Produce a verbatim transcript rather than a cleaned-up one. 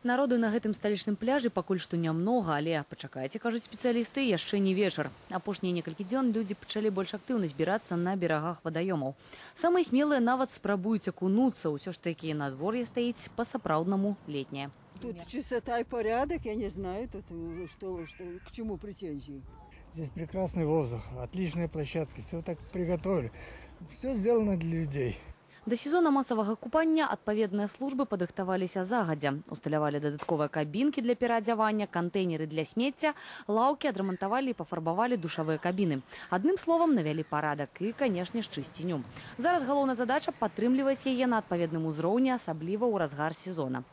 Народу на гэтым сталічным пляжы пакуль што нямнога, але пачакайце, кажуць спецыялісты, яшчэ не вечар. Апошнія некалькі дзён людзі пачалі больш актыўна збірацца на берагах вадаёмаў. Самыя смелыя нават спрабуюць акунуцца, усё ж такі надвор'е стаіць па-сапраўднаму летняе. Тут чистота и порядок, я не знаю, тут что, что, к чему претензии. Здесь прекрасный воздух, отличные площадки, все так приготовили. Все сделано для людей. Да сезона масавага купання адпаведныя службы падрыхтаваліся загадзя. Усталявалі дадатковыя кабінкі для пераадзявання, кантэйнеры для смецця, лаўкі адрамантавалі і пафарбавалі душавыя кабіны. Адным словам, навялі парадак і, канешне, ж чысціню. Зараз галоўная задача падтрымліваць яе на адпаведным узроўні, асабліва ў разгар сезона.